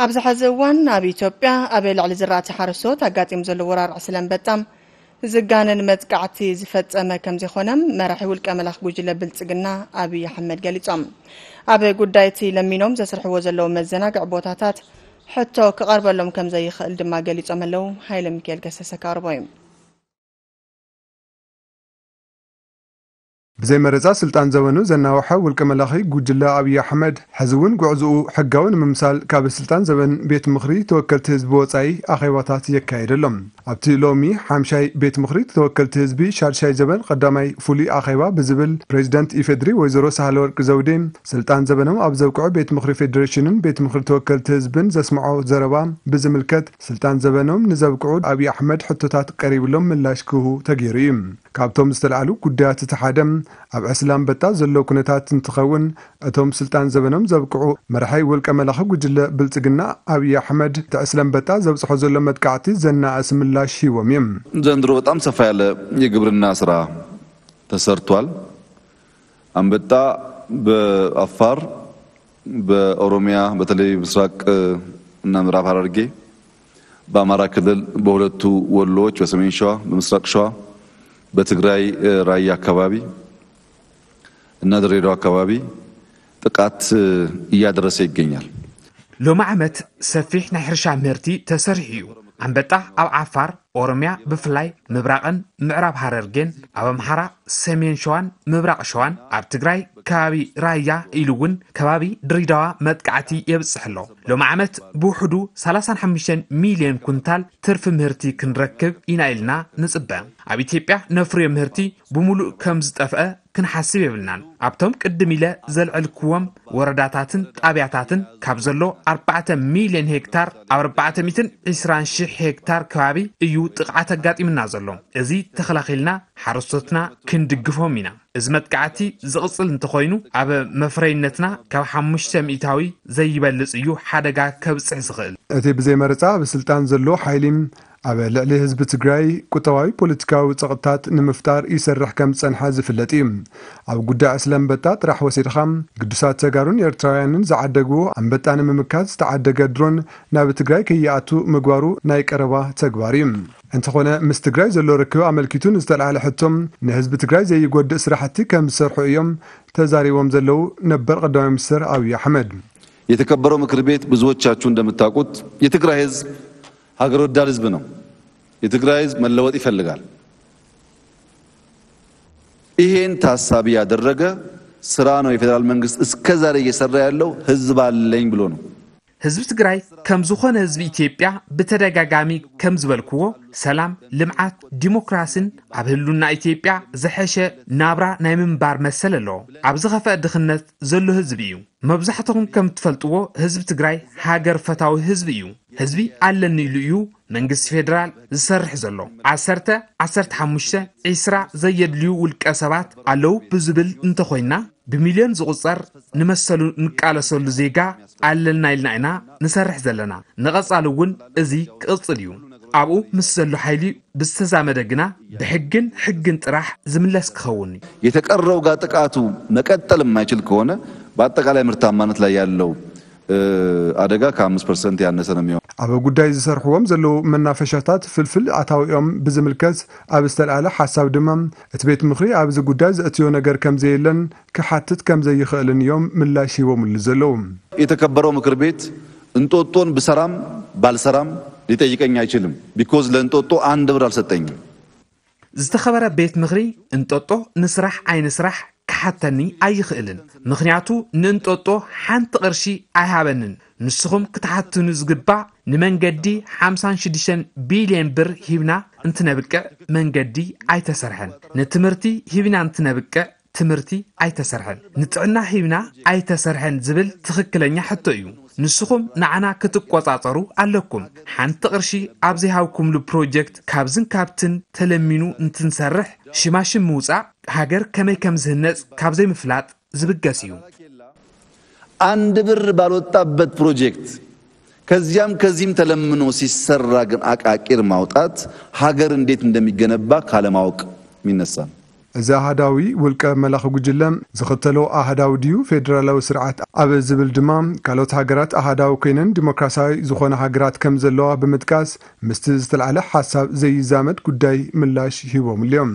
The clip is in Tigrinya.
ኣብዚ ሐዚ እዋን ኣብ ኢትዮጵያ ኣብ ልዕሊ ዝራእቲ ሓረስቶት ኣጋጢሙ ዘሎ ወራር ዕስለ ኣንበጣ ዝጋነን መጥቃዕቲ ዝፈጸመ ከም ዘይኮነ መራሒ ውልቀ መላኺ ጉጅለ ብልጽግና ኣብይ ኣሕመድ ገሊጾም። ኣብ ጉዳይ እቲ ለሚኖም ዘስርሕዎ ዘለዉ መዘናግዒ ቦታታት ሕቶ ክቐርበሎም ከም ዘይኽእል ድማ ገሊጾም ኣለዉ። ሃይለ ሚካኤል ገሰሰ ከቕርቦ እዩ። ብዘይ መረጻ ስልጣን ዘበኑ ዘናውሐ ውልቀ መላኺ ጉጅለ ኣብይ ኣሕመድ፣ ሕዚ እውን ጉዕዝኡ ሕጋዊ ንምምሳል ካብ ስልጣን ዘበን ቤት ምኽሪ ተወከልቲ ህዝቢ ወጻኢ ኣኼባታት የካየደ ኣሎ። ኣብቲ ሎሚ ሓምሻይ ቤት ምኽሪ ተወከልቲ ህዝቢ ሻድሻይ ዘበን ቀዳማይ ፍሉይ ኣኼባ ብዝብል ፕሬዚደንት ኢፌድሪ ወይዘሮ ሳህለወርቅ ዘውዴ ስልጣን ዘበኖም ኣብ ዘብቅዑ ቤት ምኽሪ ፌዴሬሽንን ቤት ምኽሪ ተወከልቲ ህዝብን ዘስምዖ ዘረባ ብዝምልከት፣ ስልጣን ዘበኖም ንዘብቅዑ ኣብይ ኣሕመድ ሕቶታት ቀሪብሎም ምላሽ ክህቡ ተገይሩ እዩ። ካብቶም ዝተልዓሉ ጉዳያት እቲ ሓደ ኣብ ዕስለ ኣንበጣ ዘሎ ኩነታት እንትኸውን፣ እቶም ስልጣን ዘበኖም ዘብቅዑ መራሒ ውልቀ መላኺ ጉጅለ ብልጽግና ኣብይ ኣሕመድ እቲ ዕስለ ኣንበጣ ዘብጽሖ ዘሎ መጥቃዕቲ ዘናእስ ምላሽ ሂቦም እዮም። ዘንድሮ በጣም ሰፋ ያለ የግብርና ስራ ተሰርቷል። አንበጣ በአፋር፣ በኦሮሚያ፣ በተለይ ምስራቅ እና ምዕራብ ሐረርጌ፣ በአማራ ክልል በሁለቱ ወሎዎች፣ በሰሜን ሸዋ፣ በምስራቅ ሸዋ፣ በትግራይ ራያ አካባቢ እና ድሬዳዋ አካባቢ ጥቃት እያደረሰ ይገኛል። ሎሚ ዓመት ሰፊሕ ናይ ሕርሻ ምህርቲ ተሰሪሑ እዩ። ኣንበጣ ኣብ ዓፋር፣ ኦሮምያ፣ ብፍላይ ምብራቕን ምዕራብ ሃረርጌን፣ ኣብ ኣምሓራ፣ ሰሜን ሸዋን ምብራቕ ሸዋን፣ ኣብ ትግራይ ከባቢ ራያ ኢሉ እውን ከባቢ ድሬዳዋ መጥቃዕቲ የብፅሕ ኣሎ። ሎሚ ዓመት ብውሕዱ ሰላሳን ሓሙሽተን ሚልዮን ኩንታል ትርፊ ምህርቲ ክንረክብ ኢና ኢልና ንፅበ። ኣብ ኢትዮጵያ ነፍርዮ ምህርቲ ብሙሉእ ከም ዝጠፍአ ክንሓስብ የብልናን። ኣብቶም ቅድም ኢለ ዘልዐልክዎም ወረዳታትን ጣብያታትን ካብ ዘሎ ኣርባዕተ ሚልዮን ሄክታር ኣብ ኣርባዕተ ሚእትን ዕስራን ሽሕ ሄክታር ከባቢ እዩ ጥቕዓት ኣጋጢምና ዘሎ። እዚ ተኸላኺልና ሓረስቶትና ክንድግፎም ኢና። እዚ መጥቃዕቲ ዝቕፅል እንተኾይኑ ኣብ መፍረይነትና ካብ ሓሙሽተ ሚእታዊ ዘይበልፅ እዩ ሓደጋ ከብፅሕ ዝኽእል። እቲ ብዘይ መረፃ ኣብ ስልጣን ዘሎ ሓይሊ ኣብ ልዕሊ ህዝቢ ትግራይ ቁጠባዊ ፖለቲካዊ ፀቕጥታት ንምፍጣር ይሰርሕ ከም ዝፀንሐ ዝፍለጥ እዩ። ኣብ ጉዳይ ዕስለ ኣንበጣ ጥራሕ ወሲድኻ ግዱሳት ተጋሩን ኤርትራውያንን ዝዓደግዎ ኣንበጣ ንምምካት ዝተዓደገ ድሮን ናብ ትግራይ ከይኣቱ ምግባሩ ናይ ቀረባ ተግባር እዩ። እንተኾነ ምስ ትግራይ ዘሎ ርክብ ኣመልኪቱ ንዝተልዓለ ሕቶ ንህዝቢ ትግራይ ዘይጎድእ ስራሕቲ ከም ዝሰርሑ እዮም ተዛሪቦም ዘለዉ ነበር ቀዳማይ ሚኒስትር ኣብይ ኣሕመድ። የተከበረው ምክር ቤት ብዙዎቻችሁ እንደምታውቁት የትግራይ ህዝብ ሀገር ወዳድ ህዝብ ነው። የትግራይ ህዝብ መለወጥ ይፈልጋል። ይሄን ታሳቢ ያደረገ ስራ ነው የፌዴራል መንግስት እስከዛሬ እየሰራ ያለው። ህዝብ አለኝ ብሎ ነው። ህዝቢ ትግራይ ከም ዝኾነ ህዝቢ ኢትዮጵያ ብተደጋጋሚ ከም ዝበልክዎ ሰላም፣ ልምዓት፣ ዲሞክራሲን ኣብ ህሉና ኢትዮጵያ ዝሐሸ ናብራ ናይ ምንባር መሰል ኣለዎ። ኣብ ዝኸፈአ ድኽነት ዘሎ ህዝቢ እዩ። መብዛሕትኹም ከም ትፈልጥዎ ህዝቢ ትግራይ ሃገር ፈታዊ ህዝቢ እዩ። ህዝቢ ኣለኒ ኢሉ እዩ መንግስቲ ፌደራል ዝሰርሕ ዘሎ። ዓሰርተ፣ ዓሰርተ ሓሙሽተ፣ ዒስራ ዘየድልዩ ውልቀ ሰባት ኣለዉ ብዝብል እንተኾይንና ብሚልዮን ዝቑጸር ንመሰሉ ንቃለሰሉ ዜጋ ኣለና ኢልና ኢና ንሰርሕ ዘለና። ንቐጻሊ እውን እዚ ክቕጽል እዩ። ኣብኡ ምስ ዘሎ ሓይሊ ብዝተዛመደ ግና ብሕግን ሕግን ጥራሕ ዝምለስ ክኸውን እዩ። የተቀረው ጋር ጥቃቱ መቀጠል የማይችል ከሆነ በአጠቃላይ ምርታማነት ላይ ያለው አደጋ ከአምስት ፐርሰንት ያነሰ ነው የሚሆነው። ኣብ ጉዳይ ዝሰርሕዎም ዘለዉ መናፈሻታት ፍልፍል ኣታዊኦም ብዝምልከት ኣብ ዝተልዓለ ሓሳብ ድማ እቲ ቤት ምኽሪ ኣብዚ ጉዳይ ዘእትዮ ነገር ከም ዘየለን ክሓትት ከም ዘይኽእልን እዮም ምላሽ ሂቦምሉ ዘለዉ። የተከበረው ምክር ቤት እንጦጦን ብሰራም ባልሰራም ሊጠይቀኝ አይችልም። ቢኮዝ ለእንጦጦ አንድ ብር አልሰጠኝም። ዝተኸበረ ቤት ምኽሪ እንጦጦ ንስራሕ ኣይንስራሕ ክሓተኒ ኣይኽእልን። ምኽንያቱ ንእንጦጦ ሓንቲ ቕርሺ ኣይሃበንን። ንስኹም ክትሓትኑ ዝግባእ ንመንገዲ ሓምሳን ሽዱሽተን ቢልየን ብር ሂብና እንትነብቅዕ መንገዲ ኣይተሰርሐን። ንትምህርቲ ሂብና እንትነብቅዕ ትምህርቲ ኣይተሰርሐን፣ ንጥዕና ሂብና ኣይተሰርሐን ዝብል ትኽክለኛ ሕቶ እዩ። ንስኹም ንዓና ክትቆጻጸሩ ኣለኩም። ሓንቲ ቅርሺ ኣብ ዘይሃብኩምሉ ፕሮጀክት ካብዝን ካብትን ተለሚኑ እንትንሰርሕ ሽማሽም ምውጻእ ሃገር ከመይ ከም ዝህነጽ ካብ ዘይምፍላጥ ዝብገስ እዩ። አንድ ብር ባልወጣበት ፕሮጀክት ከዚያም ከዚህም ተለምኖ ሲሰራ ግን አቃቂር ማውጣት ሀገር እንዴት እንደሚገነባ ካለማወቅ የሚነሳ ነው። እዚ ኣሃዳዊ ውልቀ መላኺ ጉጅለ ዝኽተሎ ኣሃዳዊ ድዩ ፌደራላዊ ስርዓት ኣብ ዝብል ድማ፣ ካልኦት ሃገራት ኣሃዳዊ ኮይነን ዲሞክራሲያዊ ዝኾነ ሃገራት ከም ዘለዋ ብምጥቃስ፣ ምስቲ ዝተልዓለ ሓሳብ ዘይዛመድ ጉዳይ ምላሽ ሂቦምሉ እዮም።